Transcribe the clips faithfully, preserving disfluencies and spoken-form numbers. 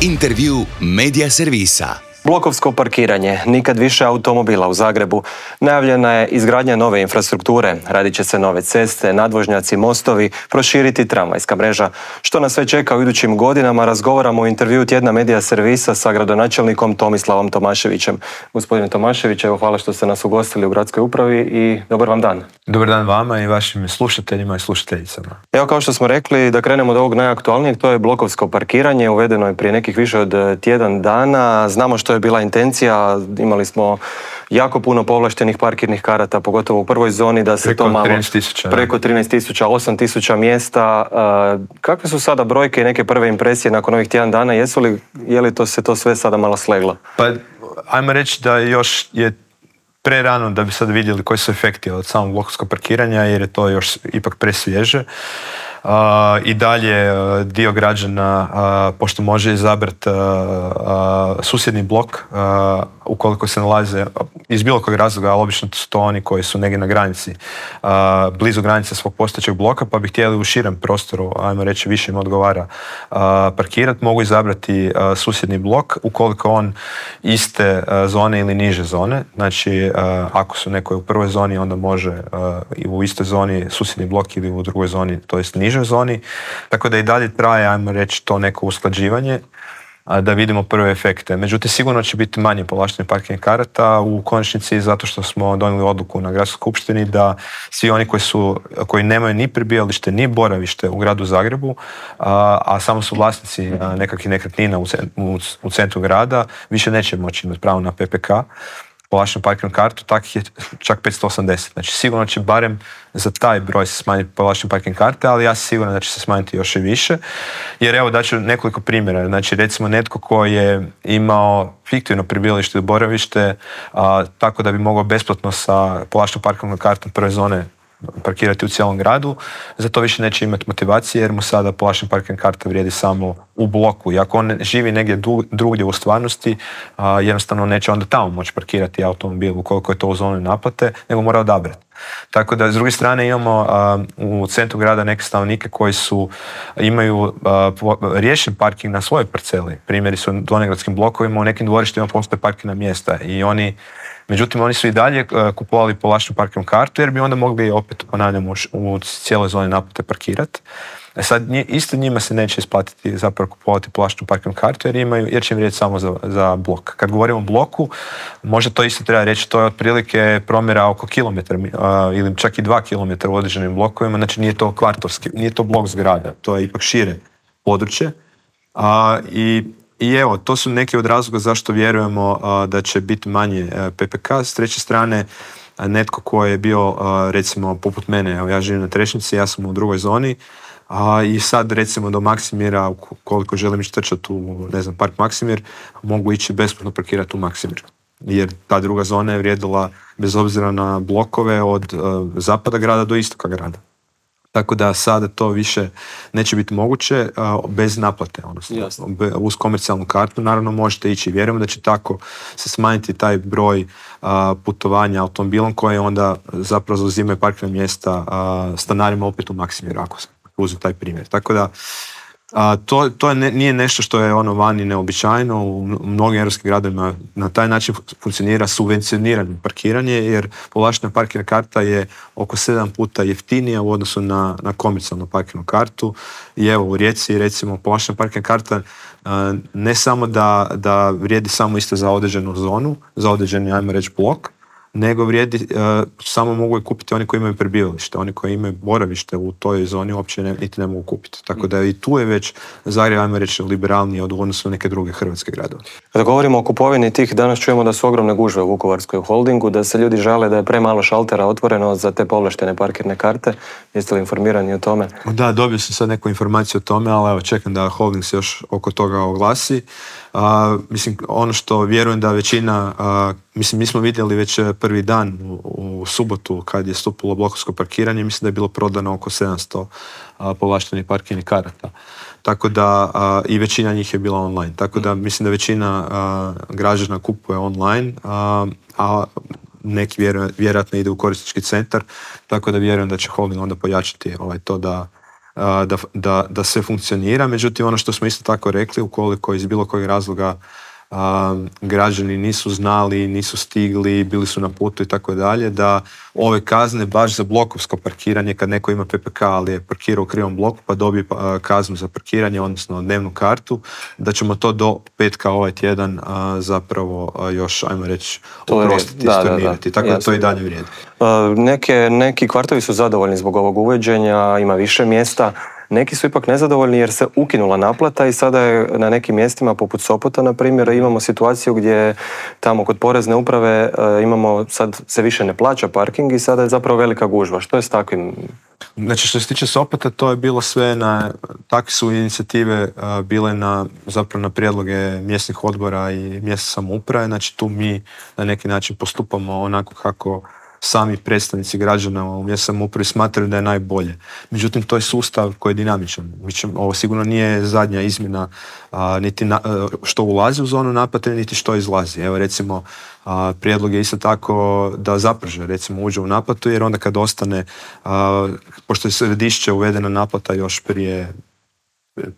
Intervju Media servisa. Blokovsko parkiranje, nikad više automobila u Zagrebu. Najavljena je izgradnja nove infrastrukture, radit će se nove ceste, nadvožnjaci, mostovi, proširiti tramvajska mreža. Što nas sve čeka u idućim godinama, razgovaramo u intervju tjedna Media servisa sa gradonačelnikom Tomislavom Tomaševićem. Gospodine Tomašević, evo hvala što ste nas ugostili u gradskoj upravi i dobar vam dan. Dobar dan vama i vašim slušateljima i slušateljicama. Evo, kao što smo rekli, da krenemo od ovog najaktualnijeg, to je blokovsko parkiranje, uvedeno je prije nekih više od tjedan dana. Znamo što je bila intencija, imali smo jako puno povlaštenih parkirnih karata, pogotovo u prvoj zoni, da se preko to malo... trinaest tisuća. Preko trinaest tisuća, osam tisuća mjesta. Kakve su sada brojke i neke prve impresije nakon ovih tjedan dana? Jesu li, je li to se to sve sada malo sleglo? Pa, ajmo reći da još je pre rano da bi sad vidjeli koji su efekti od samog blokovskog parkiranja, jer je to još ipak presvježe. Uh, I dalje uh, dio građana, uh, pošto može izabrati uh, uh, susjedni blok, uh, ukoliko se nalaze iz bilo kojeg razloga, ali obično su to oni koji su negdje na granici, uh, blizu granice svog postojećeg bloka, pa bi htjeli u širem prostoru, ajmo reći više im odgovara, uh, parkirati, mogu izabrati uh, susjedni blok, ukoliko on iste uh, zone ili niže zone. Znači, uh, ako su neko u prvoj zoni, onda može uh, i u istoj zoni susjedni blok ili u drugoj zoni, to jest niže zoni, tako da i dalje traje, ajmo reći, to neko usklađivanje, da vidimo prve efekte. Međutim, sigurno će biti manje povlaštenih parkirnih karata u konačnici, zato što smo donijeli odluku na gradskoj skupštini da svi oni koji su, koji nemaju ni prebivalište ni boravište u gradu Zagrebu, a, a samo su vlasnici nekakvih nekretnina u, u, u centru grada, više neće moći imati pravo na P P K, povlaštenu parkirnu kartu, takih je čak petsto osamdeset. Znači, sigurno će barem za taj broj se smanjiti povlaštene parkirne karte, ali ja sam siguran da će se smanjiti još i više. Jer evo, daću nekoliko primjera. Znači, recimo netko koji je imao fiktivno prebivalište ili boravište, a, tako da bi mogao besplatno sa povlaštenom parkirnom kartom prve zone parkirati u cijelom gradu, za to više neće imati motivacije jer mu sada povlaštena parkirna karta vrijedi samo u bloku. I ako on živi negdje drugdje u stvarnosti, a, jednostavno neće onda tamo moći parkirati automobil ukoliko je to u zoni naplate, nego mora odabrati. Tako da, s druge strane, imamo a, u centru grada neke stanovnike koji su, imaju a, po, riješen parking na svojoj parceli. Primjeri su u donjegradskim blokovima, u nekim dvorištima postoje parkirna mjesta i oni Međutim, oni su i dalje kupovali povlaštenu parkirnu kartu jer bi onda mogli opet, ponavljam, u cijeloj zoni naplate parkirati. E sad, isto njima se neće isplatiti zapravo kupovati povlaštenu parkirnu kartu jer, imaju, jer će im vrijediti samo za, za blok. Kad govorimo o bloku, možda to isto treba reći, to je otprilike promjera oko kilometra uh, ili čak i dva kilometra u određenim blokovima, znači nije to kvartovski, nije to blok zgrada, to je ipak šire područje. Uh, i I evo, to su neki od razloga zašto vjerujemo uh, da će biti manje uh, P P K. S treće strane, uh, netko ko je bio, uh, recimo, poput mene, evo, ja živim na Trešnjici, ja sam u drugoj zoni, uh, i sad, recimo, do Maksimira, koliko želim ići trčati u, ne znam, park Maksimir, mogu ići besplatno parkirati u Maksimir. Jer ta druga zona je vrijedila, bez obzira na blokove, od uh, zapada grada do istoka grada. Tako da sada to više neće biti moguće uh, bez naplate, odnosno uz komercijalnu kartu. Naravno možete ići, vjerujemo da će tako se smanjiti taj broj uh, putovanja automobilom koje onda zapravo zauzimaju parkirna mjesta uh, stanarima opet u Maksimiru, ako se uzme taj primjer. Tako da A, to, to je ne, nije nešto što je ono vani neobičajno. U mnogim europskim gradovima na taj način funkcionira subvencionirano parkiranje, jer povlaštena parkirna karta je oko sedam puta jeftinija u odnosu na, na komercijalnu parkirnu kartu. I evo, u Rijeci, recimo, povlaštena parkirna karta a, ne samo da, da vrijedi samo isto za određenu zonu, za određeni, ajmo reći, blok, nego vrijedi, uh, samo mogu je kupiti oni koji imaju prebivalište. Oni koji imaju boravište u toj zoni uopće ne, niti ne mogu kupiti. Tako da i tu je već Zagreb, ajmo reći, liberalniji od odnosu na neke druge hrvatske gradove. Kada govorimo o kupovini tih, danas čujemo da su ogromne gužve u Vukovarskoj holdingu, da se ljudi žale da je premalo šaltera otvoreno za te povlaštene parkirne karte. Jeste li informirani o tome? Da, dobio sam sad neku informaciju o tome, ali evo, čekam da holding se još oko toga oglasi. Uh, mislim, ono što vjerujem da većina, uh, mislim, mi smo vidjeli već prvi dan u, u subotu kad je stupilo blokovsko parkiranje, mislim da je bilo prodano oko sedamsto uh, povlaštenih parkirnih karata. Tako da, uh, i većina njih je bila online. Tako da mislim da većina uh, građana kupuje online, uh, a neki vjeru, vjerojatno ide u korisnički centar, tako da vjerujem da će holding onda pojačati ovaj, to da da, da, da sve funkcionira. Međutim, ono što smo isto tako rekli, ukoliko iz bilo kojeg razloga a, građani nisu znali, nisu stigli, bili su na putu i tako dalje, da ove kazne baš za blokovsko parkiranje, kad neko ima P P K ali je parkirao u krivom bloku pa dobije a, kaznu za parkiranje, odnosno dnevnu kartu, da ćemo to do petka ovaj tjedan a, zapravo a, još, ajmo reći, oprostiti, stornirati. Tako da to i dalje vrijedi. Neke, neki kvartovi su zadovoljni zbog ovog uvođenja, ima više mjesta. Neki su ipak nezadovoljni jer se ukinula naplata i sada je na nekim mjestima poput Sopota, na primjer, imamo situaciju gdje tamo kod porezne uprave imamo, sad se više ne plaća parking i sada je zapravo velika gužva. Što je s takvim? Znači što se tiče Sopota, to je bilo sve na, takve su inicijative a, bile na, zapravo na prijedloge mjesnih odbora i mjesne samouprave, znači tu mi na neki način postupamo onako kako sami predstavnici građana u mjesnoj samoupravi smatraju da je najbolje. Međutim, to je sustav koji je dinamičan. Ovo sigurno nije zadnja izmjena a, niti na, a, što ulazi u zonu naplate, niti što izlazi. Evo recimo, a, prijedlog je isto tako da Zapreže recimo uđe u naplatu, jer onda kad ostane, a, pošto je Središće uvedena naplata još prije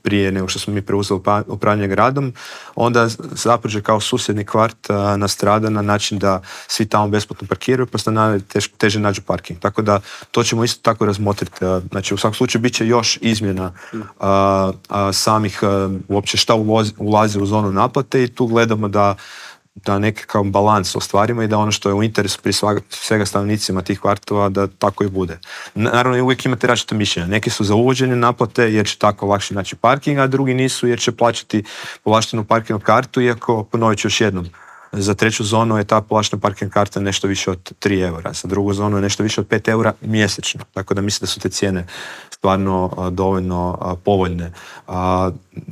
prije nego što smo mi preuzeli upravljanje gradom, onda Zapreže kao susjedni kvart a, nastrada na način da svi tamo besplatno parkiraju, pa stanari tež, teže nađu parking. Tako da to ćemo isto tako razmotriti. Znači u svakom slučaju bit će još izmjena a, a, samih a, uopće šta ulozi, ulazi u zonu naplate i tu gledamo da da nekakav balans ostvarimo i da ono što je u interesu prije svega stanovnicima tih kvartova da tako i bude. Naravno, uvijek imate različite mišljenja. Neki su za uvođenje naplate jer će tako lakše naći parking, a drugi nisu jer će plaćati povlaštenu parkingnu kartu, iako, ponovit ću još jednom, za treću zonu je ta povlaštena parking karta nešto više od tri eura, za drugu zonu je nešto više od pet eura mjesečno. Tako da mislim da su te cijene stvarno a, dovoljno a, povoljne. A,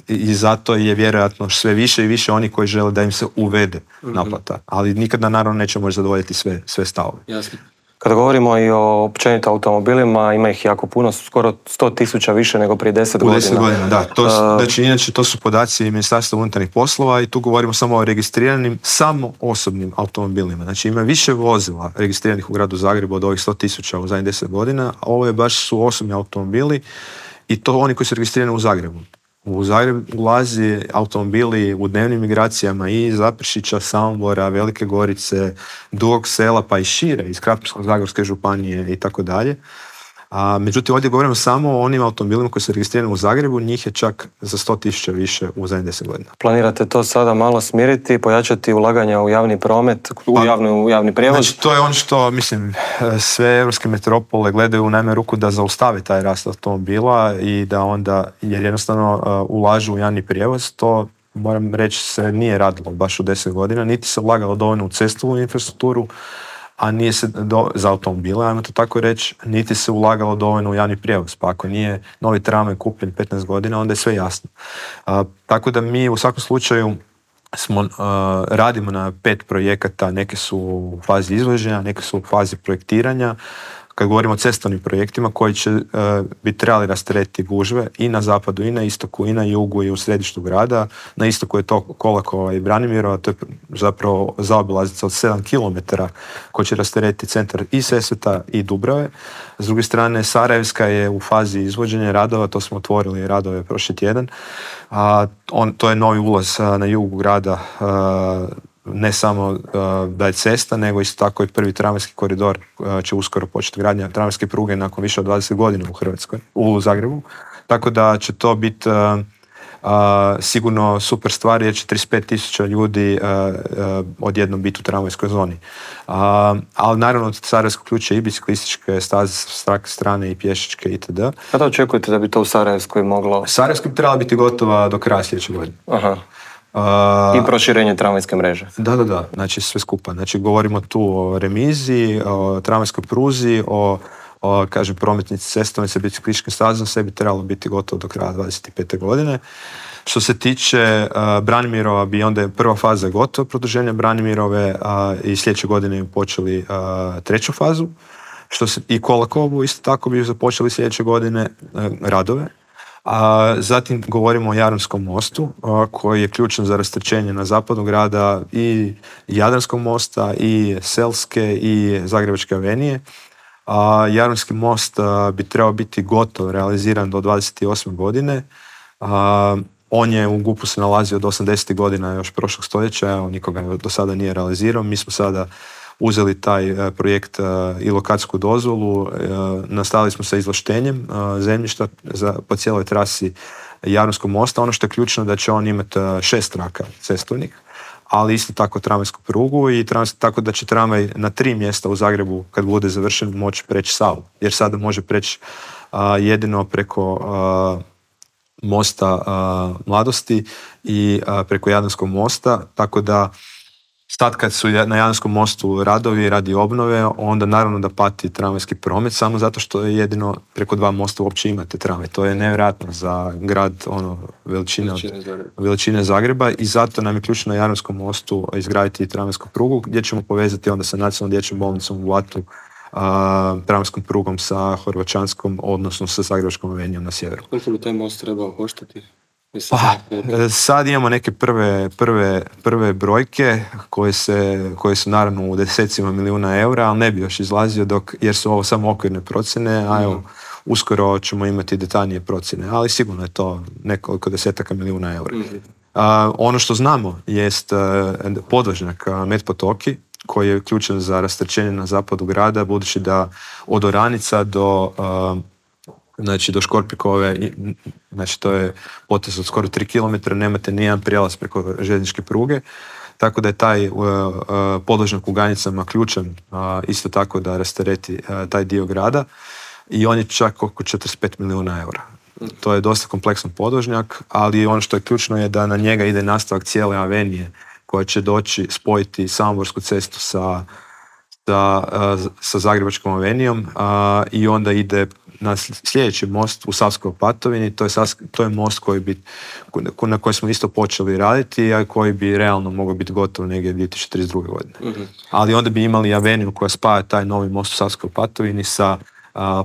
I zato je vjerojatno sve više i više oni koji žele da im se uvede naplata. Ali nikada naravno neće moći zadovoljiti sve, sve stavove. Jasno. Kada govorimo i o općenito automobilima, ima ih jako puno, skoro sto tisuća više nego prije deset godina. U deset godina, da. To su, znači, inače, to su podaci Ministarstva unutarnjih poslova i tu govorimo samo o registriranim, samo osobnim automobilima. Znači ima više vozila registriranih u gradu Zagrebu od ovih sto tisuća u zadnjih deset godina, a ovo je baš su osobni automobili i to oni koji su registrirani u Zagrebu. U Zagreb ulazi automobili u dnevnim migracijama i iz Zaprešića, Samobora, Velike Gorice, Dugog Sela pa i šire, iz Krapinsko-zagorske županije i tako dalje. A, međutim, ovdje govorimo samo o onim automobilima koji su registrirani u Zagrebu, njih je čak za sto tisuća više u zadnjih deset godina. Planirate to sada malo smiriti, pojačati ulaganja u javni promet, u, pa, javni, u javni prijevoz? Znači, to je ono što, mislim, sve europske metropole gledaju u najmanju ruku da zaustave taj rast automobila i da onda, jer jednostavno uh, ulažu u javni prijevoz, to moram reći se nije radilo baš u deset godina, niti se ulagalo dovoljno u cestovnu infrastrukturu, a nije se do, za automobile, ajmo to tako reći, niti se ulagalo dovoljno u javni prijevoz. Pa ako nije novi tramvaj kupljen petnaest godina, onda je sve jasno. A, tako da mi u svakom slučaju smo, uh, radimo na pet projekata, neke su u fazi izvođenja, neke su u fazi projektiranja. Kad govorimo o cestovnim projektima koji će uh, bi trebali rasteretiti gužve i na zapadu i na istoku i na jugu i u središtu grada. Na istoku je to Kolakova i Branimirova, to je zapravo zaobilaznica od sedam kilometara koji će rasteretiti centar i Sesveta i Dubrave. S druge strane, Sarajevska je u fazi izvođenja radova, to smo otvorili radove prošli tjedan. A, on, to je novi ulaz a, na jugu grada, a, ne samo uh, da je cesta, nego isto tako i prvi tramvajski koridor uh, će uskoro početi gradnja tramvajske pruge nakon više od dvadeset godina u Hrvatskoj, u Zagrebu. Tako da će to biti uh, uh, sigurno super stvar jer će trideset pet tisuća ljudi uh, uh, odjednom biti u tramvajskoj zoni. Uh, ali naravno od Sarajevskog ključa i biciklističke staze s strane i pješačke itd. Kada očekujete da bi to u Sarajevskoj moglo? Sarajevskoj bi trebala biti gotova do kraja sljedeće godine. Aha. Uh, I proširenje tramvajske mreže. Da, da, da, znači sve skupa. Znači govorimo tu o remiziji, o tramvajskoj pruzi, o, o kažem, prometnici cestovne sa biciklističkim stazom, sve bi trebalo biti gotovo do kraja dvadeset pete godine. Što se tiče uh, Branimirova, bi onda je prva faza gotova, produženja Branimirove uh, i sljedeće godine bi počeli uh, treću fazu. Što se, i Kolakovu isto tako bi započeli sljedeće godine uh, radove. A zatim govorimo o Jadranskom mostu a, koji je ključan za rasterećenje na zapadu grada i Jadranskog mosta i Selske i Zagrebačke avenije. A, Jadranski most a, bi trebao biti gotov, realiziran do dvadeset osme godine. A, on je u GUP-u se nalazio od osamdesetih godina još prošlog stoljeća, evo, nikoga do sada nije realizirao. Mi smo sada uzeli taj a, projekt a, i lokacijsku dozvolu, a, nastavili smo sa izvlaštenjem a, zemljišta za, po cijeloj trasi Jadranskog mosta. Ono što je ključno da će on imati a, šest traka cestovnih, ali isto tako tramvajsku prugu i tramvaj, tako da će tramvaj na tri mjesta u Zagrebu kad bude završen moći preći Savu, jer sada može preći a, jedino preko a, mosta a, Mladosti i a, preko Jadranskog mosta, tako da sad kad su na Jadranskom mostu radovi radi obnove, onda naravno da pati tramvajski promet, samo zato što je jedino preko dva mosta uopće imate tramvaj. To je nevjerojatno za grad ono, veličine, veličine, Zagreba. veličine Zagreba i zato nam je ključno na Jadranskom mostu izgraditi tramvajsku prugu gdje ćemo povezati onda sa nacionalnom dječjom bolnicom u Blatu, tramvajskom prugom sa Horvaćanskom, odnosno sa Zagrebačkom avenijom na sjeveru. Koliko bi taj most trebao koštati? Pa, sad imamo neke prve, prve, prve brojke koje, se, koje su naravno u desecima milijuna eura, ali ne bi još izlazio dok, jer su ovo samo okvirne procjene, a evo, uskoro ćemo imati detaljnije procjene, ali sigurno je to nekoliko desetaka milijuna eura. Mm-hmm. A, ono što znamo jest podvožnjak Met Potoki, koji je ključan za rasterećenje na zapadu grada, budući da od Oranica do uh, znači do Škorpikove, znači to je potez od skoro tri kilometra, nemate nijedan prijelaz preko željezničke pruge, tako da je taj uh, uh, podvožnjak u Ganicama ključan uh, isto tako da rastereti uh, taj dio grada i on je čak oko četrdeset pet milijuna eura. To je dosta kompleksan podvožnjak, ali ono što je ključno je da na njega ide nastavak cijele avenije koja će doći spojiti Samoborsku cestu sa, sa, sa Zagrebačkom avenijom a, i onda ide na sljedeći most u Savskoj Opatovini. To je, to je most koji bi, na koji smo isto počeli raditi, a koji bi realno mogao biti gotov negdje dvije tisuće trideset druge godine. Mm-hmm. Ali onda bi imali aveniju koja spaja taj novi most u Savskoj Opatovini sa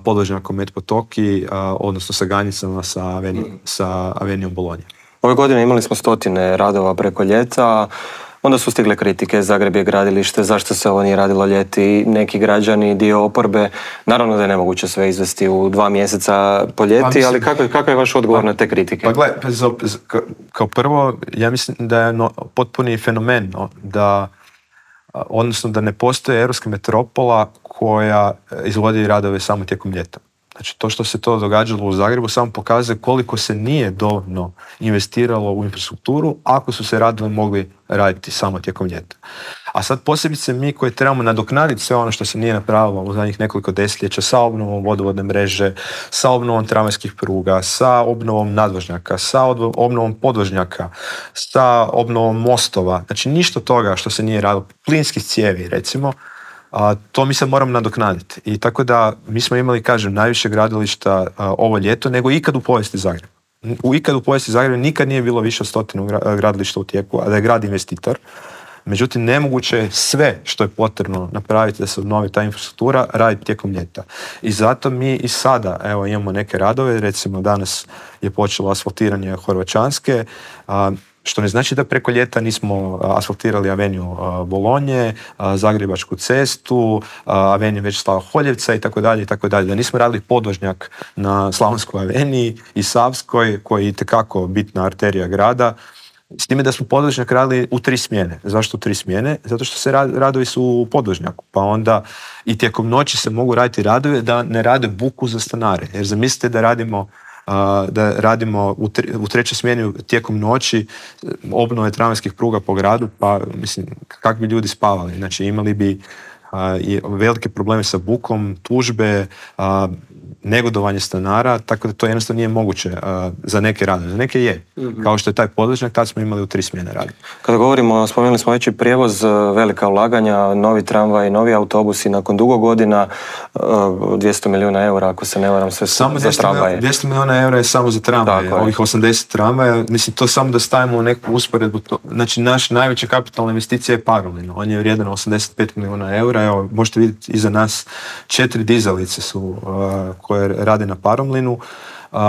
podvožnjakom Met Potoki, a, odnosno sa Ganicama, sa, avenijom, mm-hmm. sa avenijom Bolonje. Ove godine imali smo stotine radova preko ljeta, onda su stigle kritike, Zagreb je gradilište, zašto se ovo nije radilo ljeti, neki građani, dio oporbe. Naravno da je nemoguće sve izvesti u dva mjeseca po ljeti, pa, mislim, ali kakav, kakav je vaš odgovor pa, na te kritike? Pa gledaj, kao prvo, ja mislim da je no, potpuni fenomen no, da, odnosno da ne postoji europska metropola koja izvodi radove samo tijekom ljeta. Znači, to što se to događalo u Zagrebu samo pokazuje koliko se nije dovoljno investiralo u infrastrukturu ako su se radovi mogli raditi samo tijekom ljeta. A sad posebice mi koji trebamo nadoknaditi sve ono što se nije napravilo u zadnjih nekoliko desetljeća sa obnovom vodovodne mreže, sa obnovom tramvajskih pruga, sa obnovom nadvožnjaka, sa obnovom podvožnjaka, sa obnovom mostova. Znači, ništa toga što se nije radilo, plinskih cijevi recimo, a, to mi se moramo nadoknaditi. I tako da mi smo imali, kažem, najviše gradilišta a, ovo ljeto nego ikad u povijesti Zagreba. U ikad u povijesti Zagreba nikad nije bilo više od stotinu gradilišta u tijeku, a da je grad investitor. Međutim, nemoguće je sve što je potrebno napraviti da se obnovi ta infrastruktura raditi tijekom ljeta. I zato mi i sada evo, imamo neke radove, recimo danas je počelo asfaltiranje Horvaćanske, a, što ne znači da preko ljeta nismo asfaltirali aveniju Bolonje, Zagrebačku cestu, aveniju Večeslava Holjevca i tako dalje i tako dalje. Da nismo radili podvožnjak na Slavonskoj aveniji i Savskoj, koji je itekako bitna arterija grada. S time da smo podvožnjak radili u tri smjene. Zašto u tri smjene? Zato što se radovi su u podvožnjaku. Pa onda i tijekom noći se mogu raditi radovi da ne rade buku za stanare. Jer zamislite da radimo da radimo u, tre, u trećoj smjeni tijekom noći obnove tramvajskih pruga po gradu, pa mislim, kako bi ljudi spavali? Znači, imali bi a, i velike probleme sa bukom, tužbe, a, negodovanje stanara, tako da to jednostavno nije moguće a, za neke radove. Za neke je. Mm-hmm. Kao što je taj podvožnjak, tad smo imali u tri smjene radi. Kada govorimo, spomenuli smo već i prijevoz, velika ulaganja, novi tramvaj, novi autobusi, nakon dugo godina, dvjesto milijuna eura, ako se ne varam, sve samo za tramvaje. dvjesto milijuna eura je samo za tramvaje, ovih osamdeset tramvaja, mislim, to samo da stavimo u neku usporedbu. To, znači, naš najveća kapitalna investicija je Paromlin. On je vrijedan osamdeset pet milijuna eura. Evo, možete vidjeti iza nas četiri dizalice su uh, koje rade na Paromlinu. Uh,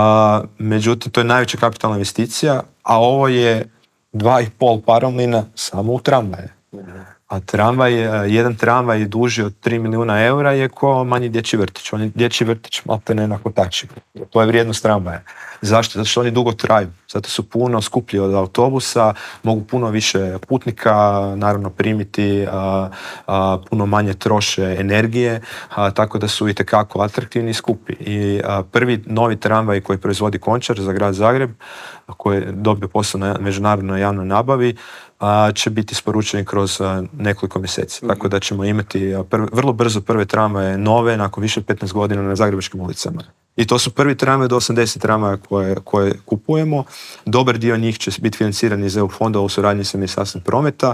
međutim, to je najveća kapitalna investicija, a ovo je dva i pol Paromlina samo u tramvaje. A tramvaj, jedan tramvaj duži od tri milijuna eura je ko manji dječji vrtić. On je dječji vrtić malte ne na kotači. To je vrijednost tramvaja. Zašto? Zato što oni dugo traju. Zato su puno skuplji od autobusa, mogu puno više putnika naravno primiti, a, a, puno manje troše energije, a, tako da su itekako atraktivni i skupi. I a, prvi novi tramvaj koji proizvodi Končar za grad Zagreb, koji je dobio posao na međunarodnoj javnoj nabavi, a, će biti isporučeni kroz a, nekoliko mjeseci. Mm-hmm. Tako da ćemo imati a, prv, vrlo brzo prve tramvaje nove nakon više petnaest godina na zagrebačkim ulicama. I to su prvi tramvaje do osamdeset tramvaja koje, koje kupujemo. Dobar dio njih će biti financiran iz E U fondova u suradnji sa Ministarstvom prometa.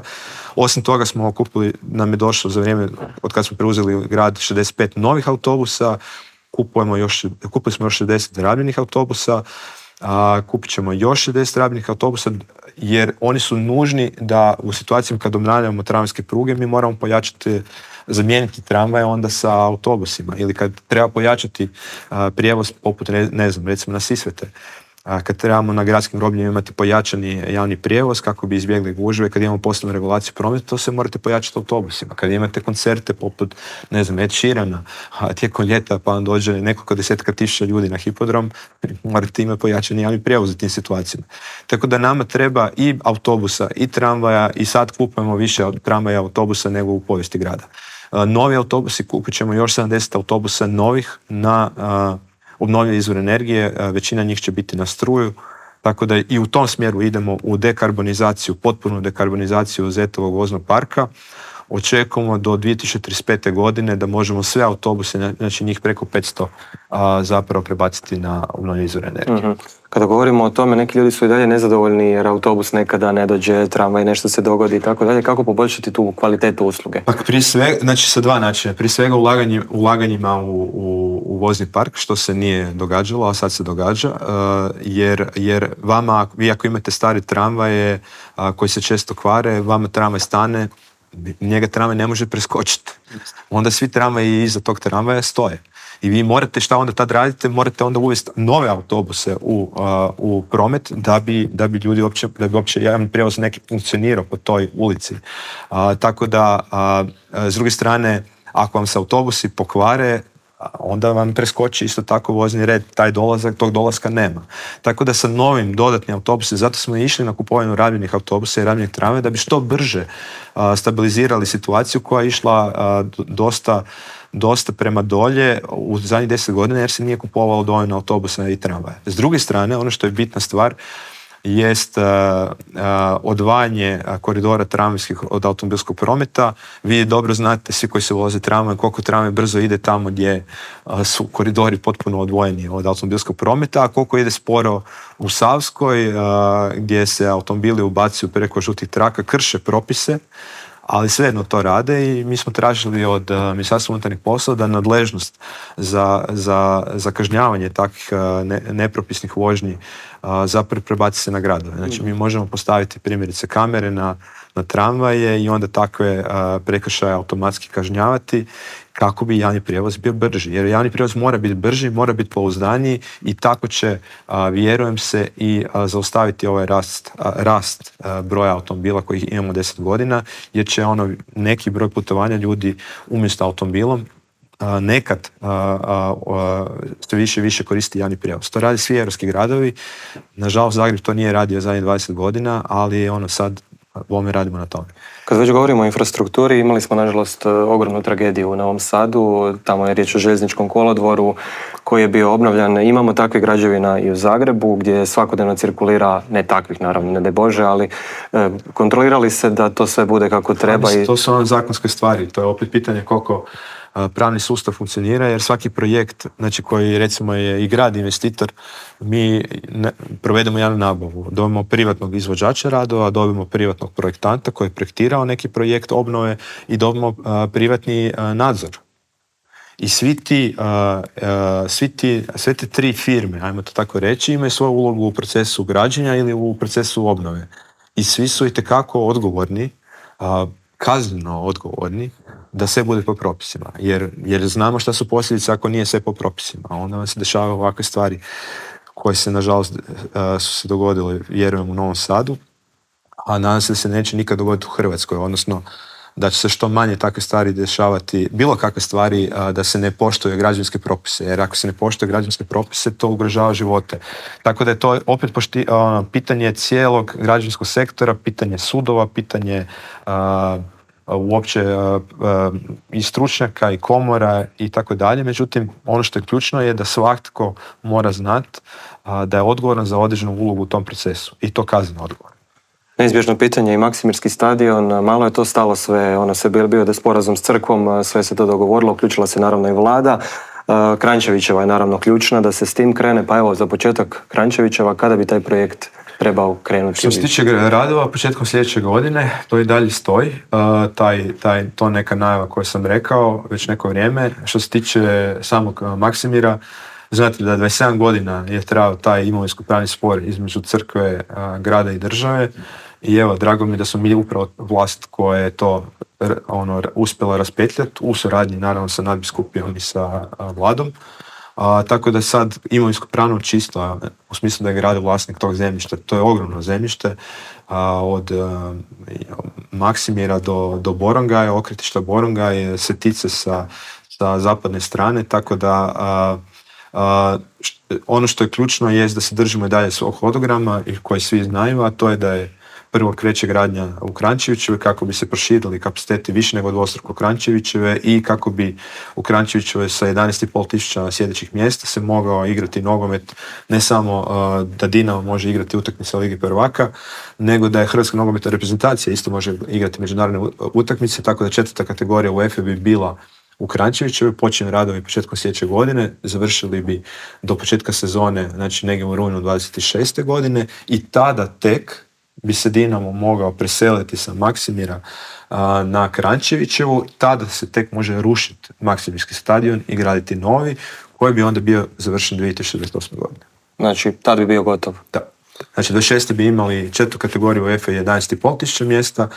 Osim toga smo kupili, nam je došlo za vrijeme od kad smo preuzeli grad šezdeset pet novih autobusa, kupujemo još, kupili smo još šezdeset rabljenih autobusa, a kupit ćemo još šezdeset rabljenih autobusa jer oni su nužni da u situacijama kad obnavljamo tramvajske pruge mi moramo pojačati, zamijeniti tramvaje onda sa autobusima ili kad treba pojačati a, prijevoz poput ne, ne znam recimo na Sisvete. A kad trebamo na gradskim grobljima imati pojačani javni prijevoz kako bi izbjegli gužve, kad imamo posebnu regulaciju prometa, to se morate pojačati autobusima. Kad imate koncerte poput, ne znam, Ed Sheerana, a tijekom ljeta pa vam dođe nekoliko desetka tisuća ljudi na hipodrom, morate imati pojačani javni prijevoz u tim situacijama. Tako da nama treba i autobusa, i tramvaja, i sad kupujemo više tramvaja i autobusa nego u povijesti grada. Novi autobusi, kupit ćemo još sedamdeset autobusa novih na a, obnovljive izvore energije, većina njih će biti na struju, tako da i u tom smjeru idemo u dekarbonizaciju, potpunu dekarbonizaciju Zetovog voznog parka. Očekujemo do dvije tisuće trideset pete. godine da možemo sve autobuse, znači njih preko petsto, a, zapravo prebaciti na obnovljive izvore energije. Mm-hmm. Kada govorimo o tome, neki ljudi su i dalje nezadovoljni jer autobus nekada ne dođe, tramvaj nešto se dogodi i tako dalje. Kako poboljšati tu kvalitetu usluge? Pa prije svega, znači sa dva načina. Prije svega ulaganje, ulaganjima u, u, u vozni park, što se nije događalo, a sad se događa, uh, jer, jer vama, vi ako imate stare tramvaje uh, koji se često kvare, vama tramvaj stane, njega tramvaj ne može preskočiti. Onda svi tramvaji iza tog tramvaja stoje. I vi morate, šta onda tad radite, morate onda uvesti nove autobuse u, uh, u promet da bi, da bi ljudi uopće, da bi uopće javni prijevoz neki funkcionirao po toj ulici. Uh, tako da, uh, s druge strane, ako vam se autobusi pokvare, onda vam preskoči isto tako vozni red, taj dolazak, tog dolaska nema. Tako da sa novim dodatnim autobusima, zato smo išli na kupovinu rabljenih autobusa i rabljenih tramvaja da bi što brže uh, stabilizirali situaciju koja je išla uh, dosta dosta prema dolje u zadnjih deset godina jer se nije kupovalo dovoljno autobusa i tramvaja. S druge strane, ono što je bitna stvar jest uh, uh, odvajanje koridora tramvajskih od automobilskog prometa. Vi dobro znate, svi koji se voze tramvaj, koliko tramvaj brzo ide tamo gdje uh, su koridori potpuno odvojeni od automobilskog prometa, a koliko ide sporo u Savskoj, uh, gdje se automobili ubacuju preko žutih traka, krše propise, ali svejedno to rade i mi smo tražili od uh, Ministarstva unutarnjih poslova da nadležnost za, za, za kažnjavanje takvih uh, ne, nepropisnih vožnji uh, zapravo prebaci se na gradove. Znači mi možemo postaviti primjerice kamere na, na tramvaje i onda takve uh, prekršaje automatski kažnjavati kako bi javni prijevoz bio brži. Jer javni prijevoz mora biti brži, mora biti pouzdaniji i tako će, a, vjerujem se, i a, zaustaviti ovaj rast, a, rast a, broja automobila kojih imamo deset godina, jer će ono neki broj putovanja ljudi umjesto automobilom a, nekad a, a, a, sve više i više koristi javni prijevoz. To radi svi europski gradovi. Nažalost, Zagreb to nije radio zadnjih dvadeset godina, ali ono sad bome radimo na tome. Kad već govorimo o infrastrukturi, imali smo nažalost ogromnu tragediju u Novom Sadu, tamo je riječ o željezničkom kolodvoru koji je bio obnovljan. Imamo takve građevina i u Zagrebu gdje svakodnevno cirkulira, ne takvih naravno, ne daj Bože, ali e, kontrolirali se da to sve bude kako treba. I... To su ono zakonske stvari, to je opet pitanje koliko pravni sustav funkcionira, jer svaki projekt, znači koji recimo je i grad investitor, mi ne, provedemo javnu nabavu, dobimo privatnog izvođača radova, dobimo privatnog projektanta koji je projektirao neki projekt obnove i dobimo uh, privatni uh, nadzor. I svi ti, uh, uh, svi ti, sve te tri firme, ajmo to tako reći, imaju svoju ulogu u procesu građenja ili u procesu obnove. I svi su itekako odgovorni, uh, kazneno odgovorni, da sve bude po propisima, jer, jer znamo šta su posljedice ako nije sve po propisima, a onda vam se dešavaju ovakve stvari koje se nažalost uh, su se dogodile, vjerujem, u Novom Sadu, a nadam se da se neće nikad dogoditi u Hrvatskoj, odnosno da će se što manje takve stvari dešavati, bilo kakve stvari a, da se ne poštuje građevinske propise, jer ako se ne poštuje građevinske propise, to ugrožava živote. Tako da je to opet pošti, a, pitanje cijelog građevinskog sektora, pitanje sudova, pitanje a, uopće uh, uh, i stručnjaka i komora i tako dalje. Međutim, ono što je ključno je da svatko mora znati uh, da je odgovoran za određenu ulogu u tom procesu i to kazneno odgovoran. Neizbježno pitanje i Maksimirski stadion, malo je to stalo sve, ono se bio da je sporazum s crkvom, sve se to dogovorilo, uključila se naravno i vlada. Uh, Kranjčevićeva je naravno ključna da se s tim krene, pa evo za početak Kranjčevićeva, kada bi taj projekt trebao krenuti? Što se tiče radova, početkom sljedeće godine, to i dalje stoji. Uh, taj, taj, to neka najava koju sam rekao već neko vrijeme. Što se tiče samog uh, Maksimira, znate da dvadeset sedam godina je trajao taj imovinsko-pravni spor između crkve, uh, grada i države. I evo, drago mi je da smo mi upravo vlast koja je to ono, uspjela raspetljati u suradnji naravno sa nadbiskupijom i sa uh, vladom. A, tako da je sad imovinsko pravno čisto, u smislu da je grad vlasnik tog zemljišta. To je ogromno zemljište, a, od a, Maksimira do, do Borongaja, okretišta Borongaj, Setice sa, sa zapadne strane, tako da a, a, št, ono što je ključno je da se držimo i dalje svog hodograma i koji svi znaju, a to je da je prvo kreće gradnja u Kranjčevićeve kako bi se proširili kapaciteti više nego dvostruko Kranjčevićeve i kako bi u Kranjčevićeve sa jedanaest i pol tisuća sjedećih mjesta se mogao igrati nogomet, ne samo uh, da Dinamo može igrati utakmice Ligi prvaka, nego da je Hrvatska nogometna reprezentacija isto može igrati međunarodne utakmice, tako da četvrta kategorija UEFA bi bila u Kranjčevićevoj, počinju radovi početkom sljedeće godine, završili bi do početka sezone, znači negdje u rujnu dvadeset šeste godine i tada tek bi se Dinamo mogao preseliti sa Maksimira a, na Kranjčevićevu, tada se tek može rušiti Maksimirski stadion i graditi novi, koji bi onda bio završen dvije tisuće dvadeset osme godine. Znači, tad bi bio gotov? Da. Znači, dvadeset šeste bi imali četvrtu kategoriju UEFA jedanaest i pol tisuća mjesta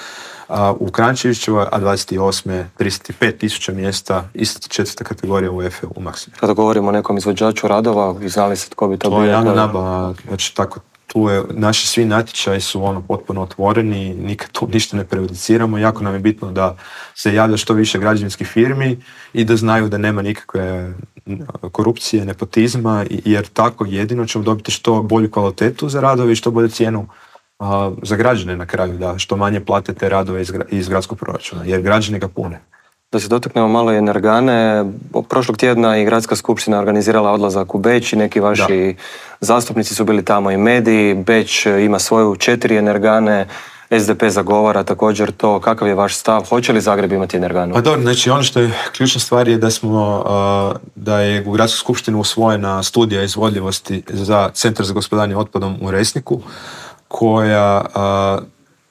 a, u Kranjčevićevoj, a dvadeset osme trideset pet tisuća mjesta, ista četvrta kategorija UEFA u Maksimiru. Kada govorimo o nekom izvođaču radova, znali se tko bi to, to bio? To je javna nabava, znači tako. Tu je, naši svi natječaji su ono potpuno otvoreni, nikad tu ništa ne prejudiciramo, jako nam je bitno da se javlja što više građevinskih firmi i da znaju da nema nikakve korupcije, nepotizma, jer tako jedino ćemo dobiti što bolju kvalitetu za radove i što bolju cijenu a, za građane na kraju, da što manje plate te radove iz, iz gradskog proračuna, jer građani ga pune. Da se dotaknemo malo i energane, prošlog tjedna i Gradska skupština organizirala odlazak u Beč i neki vaši da. zastupnici su bili tamo i mediji. Beč ima svoju četiri energane, S D P zagovara također to. Kakav je vaš stav? Hoće li Zagreb imati energanu? Pa dobro, znači ono što je ključna stvar je da smo, da je u Gradskoj skupštini usvojena studija izvodljivosti za Centar za gospodarenje otpadom u Resniku, koja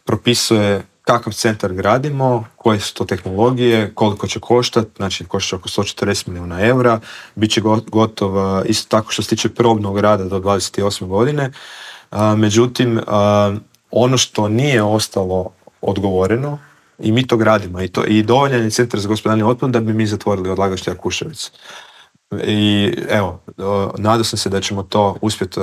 propisuje kakav centar gradimo, koje su to tehnologije, koliko će koštati, znači košta oko sto četrdeset milijuna eura, bit će gotov isto tako što se tiče probnog rada do dvadeset osme godine. A, međutim, a, ono što nije ostalo odgovoreno, i mi to gradimo, i, to, i dovoljan je Centar za gospodarenje otpadom da bi mi zatvorili odlagalište Jakuševac. I evo, nadao sam se da ćemo to uspjeti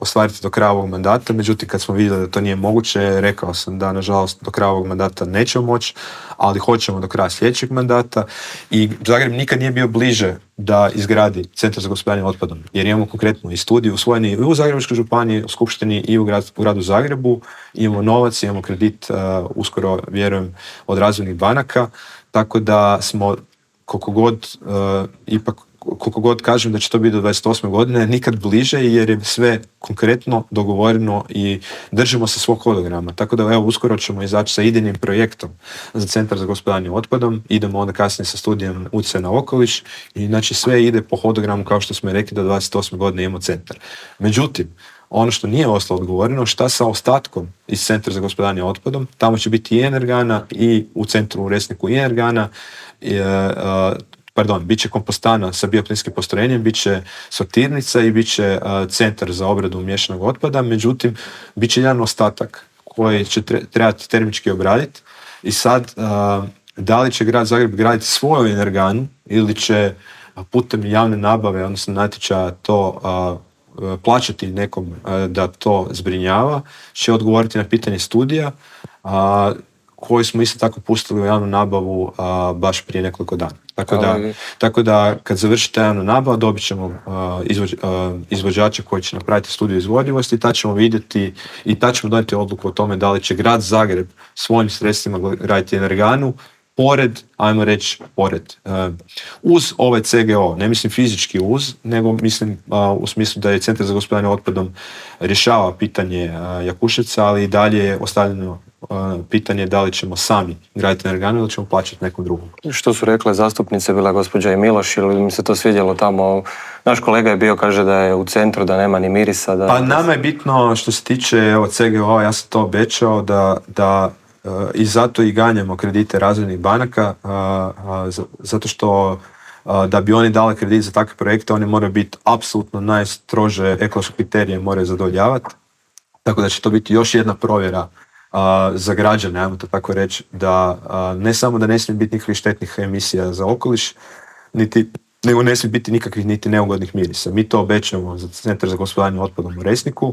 ostvariti do kraja ovog mandata, međutim kad smo vidjeli da to nije moguće, rekao sam da nažalost do kraja ovog mandata nećemo moći, ali hoćemo do kraja sljedećeg mandata i Zagreb nikad nije bio bliže da izgradi Centar za gospodarenje otpadom, jer imamo konkretno i studiju usvojeni i u Zagrebačkoj županiji, u Skupštini i u, grad, u gradu Zagrebu, imamo novac, imamo kredit, uh, uskoro vjerujem od razvojnih banaka, tako da smo koliko god uh, ipak koliko god kažem da će to biti do dvadeset osme godine, nikad bliže jer je sve konkretno dogovoreno i držimo se svog hodograma. Tako da evo, uskoro ćemo izaći sa idejnim projektom za Centar za gospodarenje otpadom, idemo onda kasnije sa studijom utjecaja na okoliš i znači sve ide po hodogramu kao što smo rekli da dvadeset osme godine imamo centar. Međutim, ono što nije ostalo odgovoreno, šta sa ostatkom iz Centra za gospodarenje otpadom, tamo će biti i energana i u centru u Resniku i energana, i, uh, pardon, bit će kompostana sa bioplinskim postrojenjem, bit će sortirnica i bit će uh, centar za obradu miješanog otpada, međutim, bit će jedan ostatak koji će trebati termički obraditi i sad uh, da li će grad Zagreb graditi svoju energanu ili će putem javne nabave, odnosno natječaja to uh, plaćati nekom uh, da to zbrinjava, će odgovoriti na pitanje studija. Uh, koju smo isto tako pustili u javnu nabavu a, baš prije nekoliko dana. Tako da, Ali- tako da kad završi ta javna nabava dobit ćemo a, izvođ, a, izvođača koji će napraviti studiju izvodljivosti i tad ćemo vidjeti i tad ćemo donijeti odluku o tome da li će grad Zagreb svojim sredstvima graditi energanu pored, ajmo reći, pored, uh, uz ovaj C G O, ne mislim fizički uz, nego mislim uh, u smislu da je Centar za gospodarenje otpadom rješava pitanje uh, Jakuševca, ali i dalje je ostavljeno uh, pitanje da li ćemo sami graditi energanu ili ćemo plaćati nekom drugom. Što su rekle zastupnice, bila gospođa i Miloš, ili mi se to svidjelo tamo? Naš kolega je bio, kaže da je u centru, da nema ni mirisa. Da... Pa nama je bitno što se tiče evo, C G O, ja sam to obećao da, da uh, i zato i ganjamo kredite razvojnih banaka, uh, uh, zato što uh, da bi oni dali kredit za takve projekte, oni moraju biti apsolutno najstrože ekološke kriterije moraju zadovoljavati. Tako da će to biti još jedna provjera uh, za građane, ajmo to tako reći, da uh, ne samo da ne smije biti nikakvih štetnih emisija za okoliš, niti nego ne smije biti nikakvih niti neugodnih mirisa. Mi to obećamo za Centar za gospodarenje otpadom u Resniku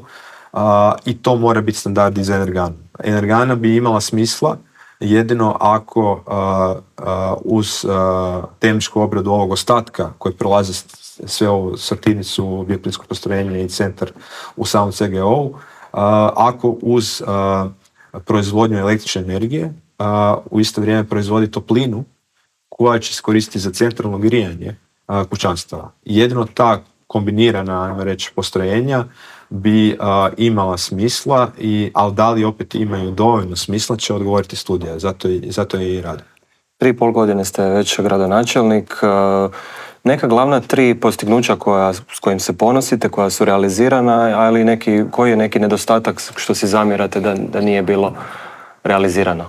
uh, i to mora biti standard i za energanu. Energana bi imala smisla jedino ako uh, uh, uz uh, termičku obradu ovog ostatka koji prolazi sve ovu sortirnicu, bioplinsko postrojenje i centar u samom C G O-u, uh, ako uz uh, proizvodnju električne energije uh, u isto vrijeme proizvodi toplinu koja će se koristiti za centralno grijanje a, kućanstava. Jedino ta kombinirana, ajmo reći, postrojenja bi a, imala smisla, i, ali da li opet imaju dovoljno smisla će odgovoriti studija, zato, i, zato je i rade. Tri i pol godine ste već gradonačelnik. Neka glavna tri postignuća koja, s kojim se ponosite, koja su realizirana, ali neki, koji je neki nedostatak što si zamjerate da, da nije bilo realizirano?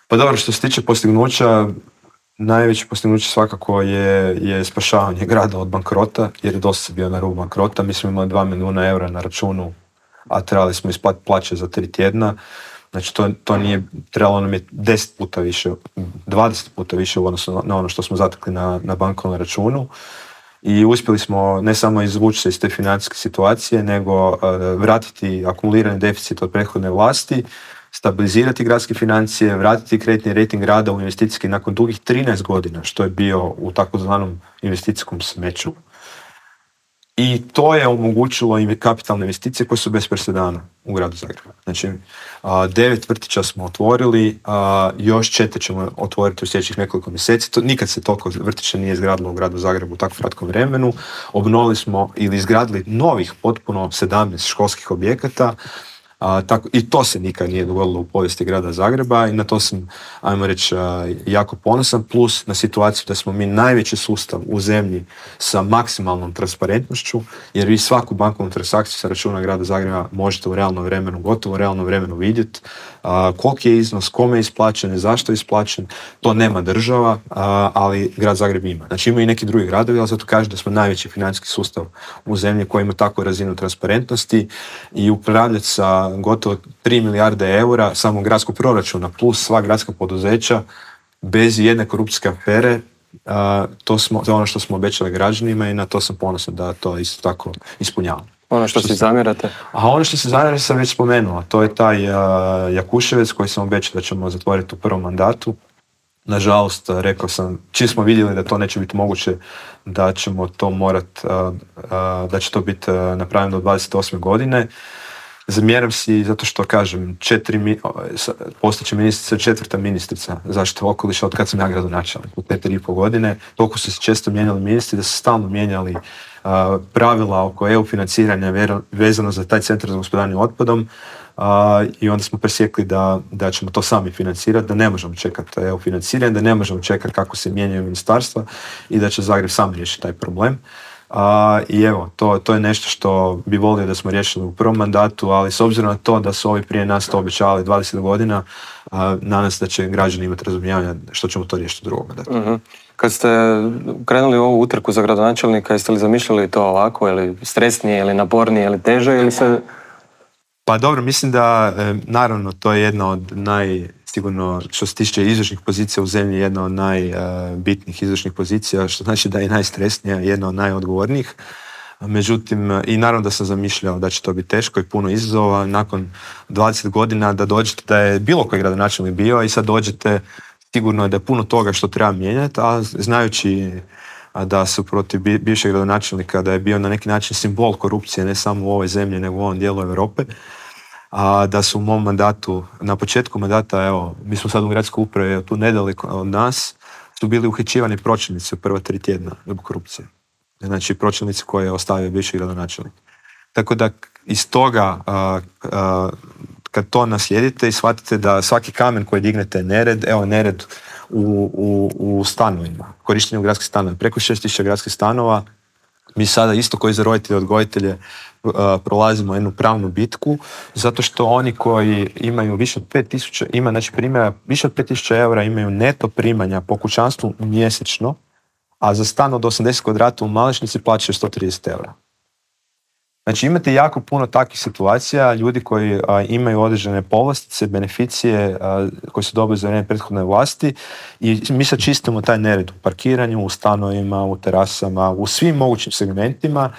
Pa dobro, što se tiče postignuća, najveće postignuće svakako je, je spašavanje grada od bankrota, jer je dosta bio na rubu bankrota. Mi smo imali dva milijuna eura na računu, a trebali smo isplatiti plaće za tri tjedna. Znači to, to nije, trebalo nam je deset puta više, dvadeset puta više u odnosu na ono što smo zatekli na, na bankovnom računu. I uspjeli smo ne samo izvući se iz te financijske situacije, nego uh, vratiti akumulirani deficit od prethodne vlasti, stabilizirati gradske financije, vratiti kreditni rejting grada u investicijski nakon dugih trinaest godina, što je bio u takozvanom investicijskom smeću. I to je omogućilo i kapitalne investicije koje su bez presedana u gradu Zagrebu. Znači, a, devet vrtića smo otvorili, a, još četiri ćemo otvoriti u sljedećih nekoliko mjeseci. To, nikad se toliko vrtića nije izgradilo u gradu Zagrebu u tako kratkom vremenu. Obnovili smo ili izgradili novih potpuno sedamnaest školskih objekata. A, tako, i to se nikad nije dogodilo u povijesti grada Zagreba i na to sam, ajmo reći, jako ponosan, plus na situaciju da smo mi najveći sustav u zemlji sa maksimalnom transparentnošću, jer vi svaku bankovnu transakciju sa računa grada Zagreba možete u realnom vremenu, gotovo u realnom vremenu vidjeti a, koliki je iznos, kome je isplaćen, zašto je isplaćen. To nema država, a, ali grad Zagreb ima. Znači ima i neki drugi gradovi, ali zato kaže da smo najveći financijski sustav u zemlji koji ima takvu razinu transparentnosti i upravljati sa gotovo tri milijarde eura samo gradskog proračuna plus sva gradska poduzeća bez jedne korupcijske afere, uh, to, smo, to je ono što smo obećali građanima i na to sam ponosan da to isto tako ispunjavamo. Ono što, što si zamjerate? A ono što se zamjerate sam već spomenuo, to je taj uh, Jakuševec koji sam obećao da ćemo zatvoriti u prvom mandatu. Nažalost, rekao sam, čim smo vidjeli da to neće biti moguće, da ćemo to morat, uh, uh, da će to biti uh, napravljeno do dvadeset osme godine. Zamjeram si zato što, kažem, četiri, postaće ministrica, četvrta ministrica zaštite okoliša od kad sam ja gradonačelnik u četiri i pol godine. Toliko su se često mijenjali ministri da su stalno mijenjali uh, pravila oko E U financiranja vezano za taj centar za gospodarenje otpadom uh, i onda smo presjekli da, da ćemo to sami financirati, da ne možemo čekati E U financiranje, da ne možemo čekati kako se mijenjaju ministarstva i da će Zagreb sam riješiti taj problem. Uh, I evo, to, to je nešto što bi volio da smo riješili u prvom mandatu, ali s obzirom na to da su ovi prije nas to obećavali dvadeset godina, uh, nadam se da će građani imati razumijevanja što ćemo to riješiti u drugom mandatu. Uh-huh. Kad ste krenuli u ovu utrku za gradonačelnika, jeste li zamišljali to ovako, ili stresnije, ili napornije, ili teže, ili se... Pa dobro, mislim da, naravno, to je jedna od naj, sigurno, što se tiče izvršnih pozicija u zemlji, jedna od najbitnijih izvršnih pozicija, što znači da je najstresnija, jedna od najodgovornijih. Međutim, i naravno da sam zamišljao da će to biti teško i puno izazova. Nakon dvadeset godina da dođete, da je bilo koji gradonačelnik bio i sad dođete, sigurno je da je puno toga što treba mijenjati, a znajući da su protiv bivšeg gradonačelnika, da je bio na neki način simbol korupcije, ne samo u ovoj zemlji, nego u ovom dijelu Europe, a da su u mom mandatu, na početku mandata, evo, mi smo sad u gradskoj upravi, tu nedaleko od nas, su bili uhićivani pročelnici u prva tri tjedna zbog korupcije. Znači, pročelnici koje je ostavio bivši gradonačelnik. Tako da, iz toga, a, a, kad to naslijedite i shvatite da svaki kamen koji dignete je nered, evo nered u, u, u stanovima, korištenju gradskih stanova, preko šest tisuća gradskih stanova, mi sada isto koji za roditelje, odgojitelje uh, prolazimo jednu pravnu bitku, zato što oni koji imaju više od pet tisuća, ima znači primjera, više od pet tisuća eura imaju neto primanja po kućanstvu mjesečno, a za stan od osamdeset kvadrata u Malešnici plaćaju sto trideset eura. Znači imate jako puno takvih situacija, ljudi koji a, imaju određene povlastice, beneficije a, koje su dobili za vrijeme prethodne vlasti i mi sad čistimo taj nered u parkiranju, u stanovima, u terasama, u svim mogućim segmentima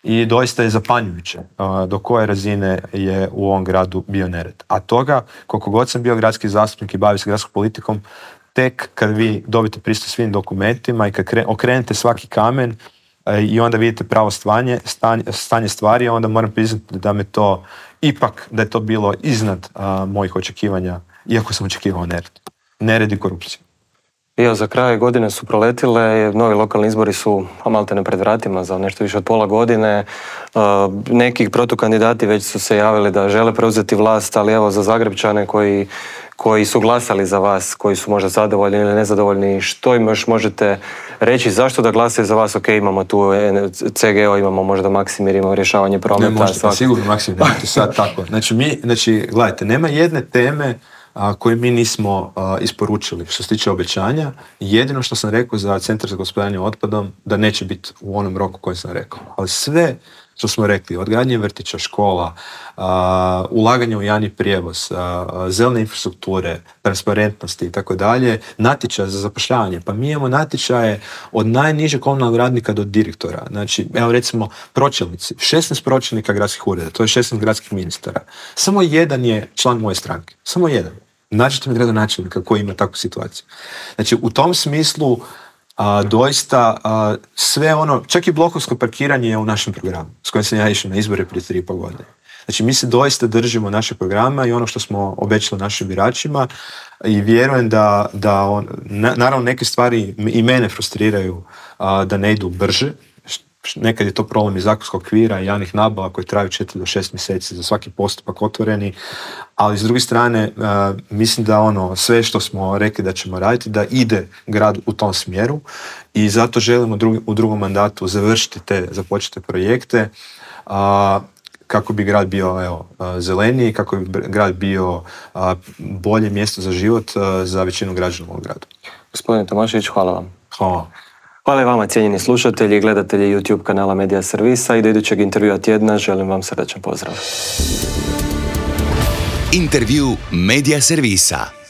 i doista je zapanjujuće a, do koje razine je u ovom gradu bio nered. A toga, koliko god sam bio gradski zastupnik i bavio se gradskom politikom, tek kad vi dobite pristup svim dokumentima i kad kre, okrenete svaki kamen i onda vidite pravo stanje, stanje, stanje stvari, onda moram priznati da me to ipak, da je to bilo iznad a, mojih očekivanja, iako sam očekivao nered. Nered i korupciju. Evo, za kraj godine su proletile, novi lokalni izbori su maltene pred vratima za nešto više od pola godine. Neki protukandidati već su se javili da žele preuzeti vlast, ali evo za Zagrepčane koji, koji su glasali za vas, koji su možda zadovoljni ili nezadovoljni, što im još možete reći, zašto da glasaju za vas? Ok, imamo tu C G O, imamo možda Maksimir, imamo rješavanje prometa. Ne možete, pa sigurno Maksimir, nemojte sad tako. Znači, mi, znači, gledajte, nema jedne teme a, koje mi nismo a, isporučili što se tiče obećanja. Jedino što sam rekao za Centar za gospodarenje otpadom, da neće biti u onom roku koji sam rekao. Ali sve što smo rekli, odgradnje vrtića, škola, a, ulaganje u javni prijevoz, a, zelene infrastrukture, transparentnosti i tako dalje, natječaje za zapošljavanje. Pa mi imamo natječaje od najnižeg komunalnog radnika do direktora. Znači, evo recimo pročelnici, šesnaest pročelnika gradskih ureda, to je šesnaest gradskih ministara. Samo jedan je član moje stranke. Samo jedan. Nađite mi gradonačelnika koji ima takvu situaciju. Znači, u tom smislu A, doista a, sve ono, čak i blokovsko parkiranje je u našem programu s kojim sam ja išao na izbore prije tri i pol godine. Znači mi se doista držimo našeg programa i ono što smo obećali našim biračima i vjerujem da, da on, na, naravno neke stvari i mene frustriraju a, da ne idu brže. Nekad je to problem iz zakonskog okvira i javnih nabava koji traju četiri do šest mjeseci za svaki postupak otvoreni, ali s druge strane uh, mislim da ono sve što smo rekli da ćemo raditi da ide grad u tom smjeru i zato želimo drugi, u drugom mandatu završiti te započete projekte uh, kako bi grad bio evo, uh, zeleniji, kako bi grad bio uh, bolje mjesto za život uh, za većinu građana u ovom gradu. Gospodine Tomašević, hvala vam. Hvala. Hvala i vama, cijenjeni slušatelji i gledatelji YouTube kanala Medija Servisa i do idućeg intervjua tjedna želim vam srdačan pozdrav. Intervju Medija Servisa.